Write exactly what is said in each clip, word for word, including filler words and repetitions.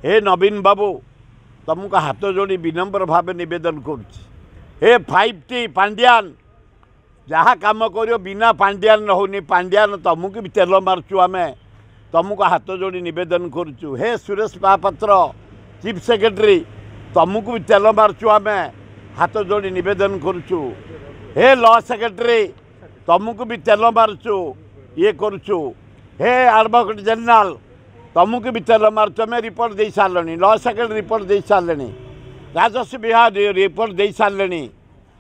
ହେ ନବୀନ ବାବୁ, ତୁମକୁ ହାତ ଯୋଡ଼ି ବିନମ୍ର ଭାବେ ନିବେଦନ କରୁଛି। ହେ ଫାଇଭ୍ ଟି ପାଣ୍ଡିଆନ, ଯାହା କାମ କରିବ ବିନା ପାଣ୍ଡିଆନ ହେଉନି, ପାଣ୍ଡିଆନ ତୁମକୁ ବି ତେଲ ମାରୁଛୁ ଆମେ, ତୁମକୁ ହାତ ଯୋଡ଼ି ନିବେଦନ କରୁଛୁ। ହେ ସୁରେଶ ମହାପାତ୍ର ଚିଫ୍ ସେକ୍ରେଟେରୀ, ତୁମକୁ ବି ତେଲ ମାରୁଛୁ ଆମେ, ହାତ ଯୋଡ଼ି ନିବେଦନ କରୁଛୁ। ହେ ଲ ସେକ୍ରେଟେରୀ, ତୁମକୁ ବି ତେଲ ମାରୁଛୁ, ଇଏ କରୁଛୁ। ହେ ଆଡ଼ଭୋକେଟ୍ ଜେନେରାଲ, ତୁମକୁ ବି ତେଲ ମାରୁଛୁ। ଆମେ ରିପୋର୍ଟ ଦେଇ ସାରିଲେଣି, ଲ ସେକ୍ରେଟେରୀ ରିପୋର୍ଟ ଦେଇ ସାରିଲେଣି, ରାଜସ୍ୱ ବିଭାଗ ରିପୋର୍ଟ ଦେଇ ସାରିଲେଣି।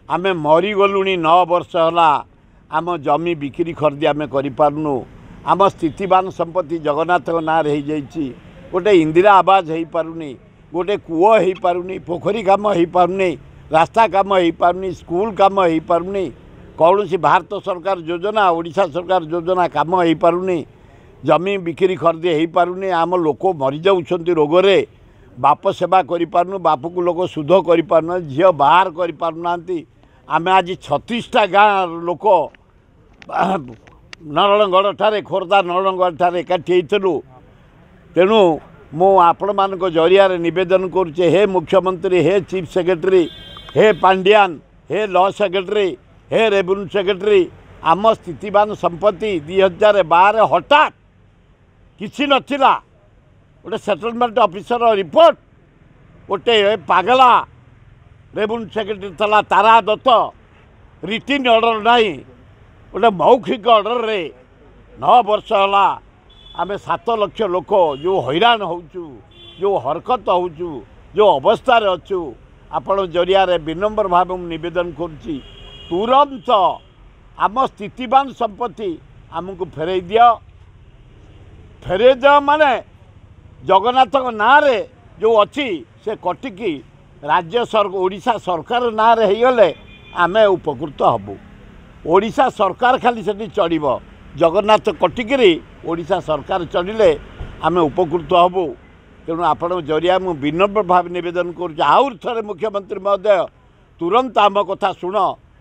ଆମେ ମରିଗଲୁଣି ନଅ ବର୍ଷ ହେଲା, ଆମ ଜମି ବିକ୍ରି ଖରିଦି ଆମେ କରିପାରୁନୁ। ଆମ ସ୍ଥିତିବାନ ସମ୍ପତ୍ତି ଜଗନ୍ନାଥଙ୍କ ନାଁରେ ହେଇଯାଇଛି। ଗୋଟେ ଇନ୍ଦିରା ଆବାସ ହେଇପାରୁନି, ଗୋଟେ କୂଅ ହେଇପାରୁନି, ପୋଖରୀ କାମ ହେଇପାରୁନି, ରାସ୍ତା କାମ ହେଇପାରୁନି, ସ୍କୁଲ କାମ ହେଇପାରୁନି, କୌଣସି ଭାରତ ସରକାର ଯୋଜନା ଓଡ଼ିଶା ସରକାର ଯୋଜନା କାମ ହେଇପାରୁନି, ଜମି ବିକ୍ରି ଖରିଦି ହେଇପାରୁନି। ଆମ ଲୋକ ମରିଯାଉଛନ୍ତି ରୋଗରେ, ବାପ ସେବା କରିପାରୁନୁ, ବାପକୁ ଲୋକ ସୁଧ କରିପାରୁନାହାନ୍ତି, ଝିଅ ବାହାର କରିପାରୁନାହାନ୍ତି। ଆମେ ଆଜି ଛତିଶଟା ଗାଁ ଲୋକ ନରଣଗଡ଼ଠାରେ, ଖୋର୍ଦ୍ଧା ନରଣଗଡ଼ଠାରେ ଏକାଠି ହେଇଥିଲୁ। ତେଣୁ ମୁଁ ଆପଣମାନଙ୍କ ଜରିଆରେ ନିବେଦନ କରୁଛି, ହେ ମୁଖ୍ୟମନ୍ତ୍ରୀ, ହେ ଚିଫ୍ ସେକ୍ରେଟେରୀ, ହେ ପାଣ୍ଡିଆନ, ହେ ଲ ସେକ୍ରେଟେରୀ, ହେ ରେଭିନ୍ୟୁ ସେକ୍ରେଟେରୀ, ଆମ ସ୍ଥିତିବାନ ସମ୍ପତ୍ତି ଦୁଇ ହଜାର ବାର ହଠାତ୍ କିଛି ନଥିଲା, ଗୋଟେ ସେଟଲମେଣ୍ଟ ଅଫିସର ରିପୋର୍ଟ, ଗୋଟେ ପାଗଲା ରେଭିନ୍ୟୁ ସେକ୍ରେଟେରୀ ଥିଲା ତାରା ଦତ୍ତ, ରିଟିନ୍ ଅର୍ଡ଼ର ନାହିଁ, ଗୋଟେ ମୌଖିକ ଅର୍ଡ଼ରରେ ନଅ ବର୍ଷ ହେଲା ଆମେ ସାତ ଲକ୍ଷ ଲୋକ ଯେଉଁ ହଇରାଣ ହେଉଛୁ, ଯେଉଁ ହରକତ ହେଉଛୁ, ଯେଉଁ ଅବସ୍ଥାରେ ଅଛୁ, ଆପଣ ଜରିଆରେ ବିନମ୍ର ଭାବେ ମୁଁ ନିବେଦନ କରୁଛି, ତୁରନ୍ତ ଆମ ସ୍ଥିତିବାନ ସମ୍ପତ୍ତି ଆମକୁ ଫେରାଇ ଦିଅ। ଫେରାଇ ଦିଅ ମାନେ ଜଗନ୍ନାଥଙ୍କ ନାଁରେ ଯେଉଁ ଅଛି ସେ କଟିକି ରାଜ୍ୟ ସରକାର ଓଡ଼ିଶା ସରକାର ନାଁରେ ହେଇଗଲେ ଆମେ ଉପକୃତ ହେବୁ। ଓଡ଼ିଶା ସରକାର ଖାଲି ସେଠି ଚଳିବ, ଜଗନ୍ନାଥ କଟିକିରି ଓଡ଼ିଶା ସରକାର ଚଳିଲେ ଆମେ ଉପକୃତ ହେବୁ। ତେଣୁ ଆପଣଙ୍କ ଜରିଆ ମୁଁ ବିନମ୍ର ଭାବେ ନିବେଦନ କରୁଛି, ଆହୁରି ଥରେ ମୁଖ୍ୟମନ୍ତ୍ରୀ ମହୋଦୟ ତୁରନ୍ତ ଆମ କଥା ଶୁଣ।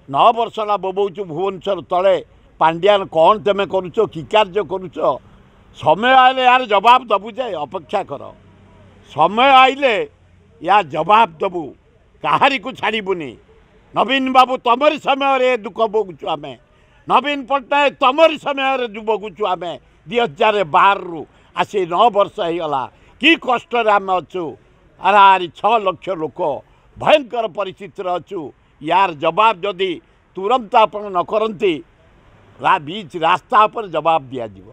ନଅ ବର୍ଷ ହେଲା ବୋବଉଛୁ ଭୁବନେଶ୍ୱର ତଳେ, ପାଣ୍ଡିଆନ କ'ଣ ତୁମେ କରୁଛ, କି କାର୍ଯ୍ୟ କରୁଛ? ସମୟ ଆଇଲେ ୟାର ଜବାବ ଦେବୁ ଯେ, ଅପେକ୍ଷା କର, ସମୟ ଆଇଲେ ୟା ଜବାବ ଦେବୁ, କାହାରିକୁ ଛାଡ଼ିବୁନି। ନବୀନ ବାବୁ ତମରି ସମୟରେ ଦୁଃଖ ଭୋଗୁଛୁ ଆମେ, ନବୀନ ପଟ୍ଟନାୟକ ତମରି ସମୟରେ ଭୋଗୁଛୁ ଆମେ। ଦୁଇ ହଜାର ବାରରୁ ଆସି ନଅ ବର୍ଷ ହେଇଗଲା, କି କଷ୍ଟରେ ଆମେ ଅଛୁ। ହାରାହାରି ଛଅ ଲକ୍ଷ ଲୋକ ଭୟଙ୍କର ପରିସ୍ଥିତିରେ ଅଛୁ। ୟାର ଜବାବ ଯଦି ତୁରନ୍ତ ଆପଣ ନ କରନ୍ତି, ବିଚ୍ ରାସ୍ତା ଉପରେ ଜବାବ ଦିଆଯିବ।